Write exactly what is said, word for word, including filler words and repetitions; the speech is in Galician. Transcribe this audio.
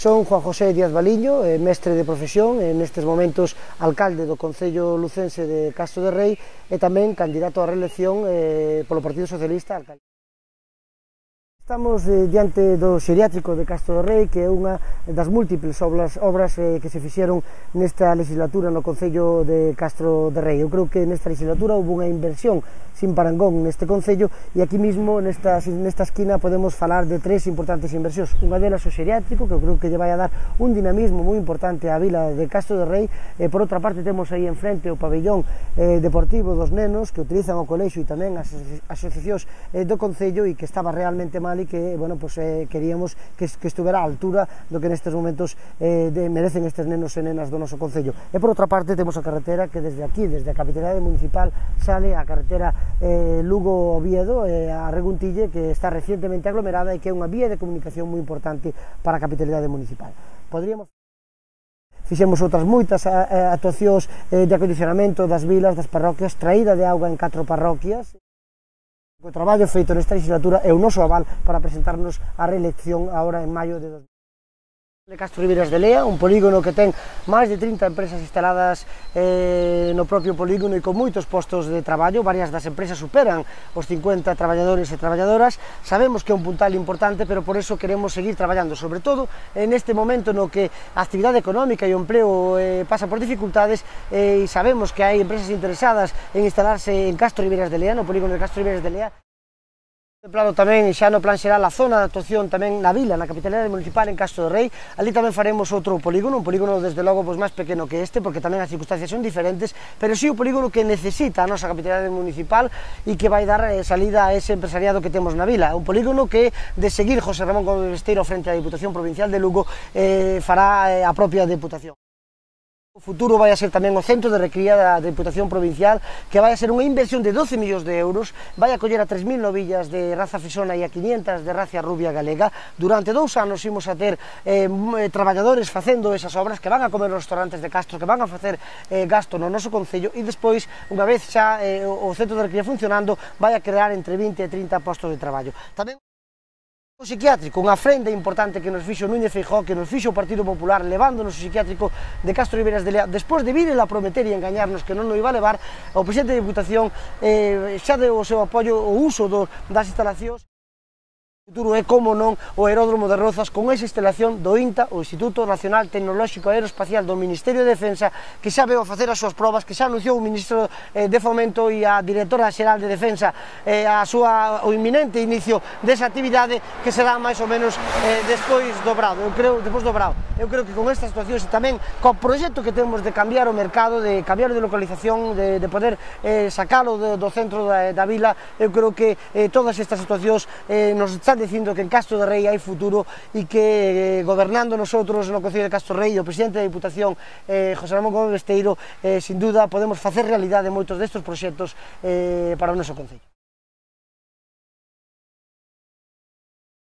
Son Juan José Díaz Baliño, eh, mestre de profesión, eh, nestes momentos alcalde do Concello Lucense de Castro de Rei e tamén candidato á reelección eh, polo Partido Socialista. Estamos eh, diante do xeriátrico de Castro de Rei, que é unha das múltiples obras, obras eh, que se fixeron nesta legislatura no Concello de Castro de Rei. Eu creo que nesta legislatura houve unha inversión sin parangón neste Concello e aquí mismo nesta, nesta esquina podemos falar de tres importantes inversións. Unha delas o xeriátrico, que eu creo que lle vai a dar un dinamismo moi importante á vila de Castro de Rei, e por outra parte temos aí enfrente o pabellón eh, deportivo dos nenos que utilizan o colexio e tamén as asociacións eh, do Concello e que estaba realmente mal e que, bueno, pues, eh, queríamos que, que estuvera á altura do que nestes momentos eh, de, merecen estes nenos e nenas do noso Concello. E por outra parte temos a carretera que desde aquí, desde a capitalidade municipal, sale a carretera eh, Lugo-Oviedo, eh, a Reguntille, que está recientemente aglomerada e que é unha vía de comunicación moi importante para a capitalidade municipal. Podríamos... Fixemos outras moitas actuacións eh, de acondicionamento das vilas, das parroquias, traída de auga en catro parroquias. O traballo feito nesta legislatura é o noso aval para presentarnos á reelección agora en maio de dos mil de Castro Ribeiras de Lea, un polígono que ten máis de trinta empresas instaladas eh, no propio polígono e con moitos postos de traballo. Varias das empresas superan os cincuenta traballadores e traballadoras. Sabemos que é un puntal importante, pero por eso queremos seguir traballando, sobre todo en este momento no que a actividade económica e o empleo eh, pasa por dificultades, eh, e sabemos que hai empresas interesadas en instalarse en Castro Ribeiras de Lea, no polígono de Castro Ribeiras de Lea. Contemplado tamén xa no plan xeral a zona de actuación tamén na vila, na capitalidade municipal en Castro de Rei. Ali tamén faremos outro polígono, un polígono desde logo pois, máis pequeno que este, porque tamén as circunstancias son diferentes, pero sí o polígono que necesita a nosa capitalidade municipal e que vai dar eh, salida a ese empresariado que temos na vila. Un polígono que, de seguir José Ramón Gómez Besteiro frente á Diputación Provincial de Lugo, eh, fará eh, a propia Deputación. O futuro vai a ser tamén o centro de recría da Deputación Provincial, que vai a ser unha inversión de doce millóns de euros, vai a coller a tres mil novillas de raza frisona e a quinientas de raza rubia galega. Durante dous anos imos a ter eh, traballadores facendo esas obras, que van a comer nos restaurantes de Castro, que van a facer eh, gasto no noso Concello, e despois, unha vez xa eh, o centro de recría funcionando, vai a crear entre vinte e trinta postos de traballo. Tamén o psiquiátrico, unha ofrenda importante que nos fixo Núñez Feijóo, que nos fixo o Partido Popular, levándonos o psiquiátrico de Castro Ribeiras de Lea, despois de virela a prometer e engañarnos que non o iba a levar, o presidente da Diputación eh, xa deu o seu apoio ao uso do, das instalacións. O futuro é, como non, o aeródromo de Rozas, con esa instalación do INTA, o Instituto Nacional Tecnolóxico Aeroespacial do Ministerio de Defensa, que xa veo a facer as súas probas, que xa anunciou o Ministro eh, de Fomento e a Directora Xeral de Defensa eh, a súa, o inminente inicio desa actividade, que será máis ou menos eh, despois dobrado, eu creo, despois dobrado. Eu creo que con estas situacións e tamén co proxecto que temos de cambiar o mercado, de cambiar de localización, de, de poder eh, sacalo do, do centro da, da vila, eu creo que eh, todas estas situacións eh, nos están dicindo que en Castro de Rei hai futuro e que eh, gobernando nosotros no Concello de Castro de Rei, o presidente da Diputación eh, José Ramón Gómez Besteiro, eh, sin duda podemos facer realidade moitos destes proxectos eh, para o noso Concello.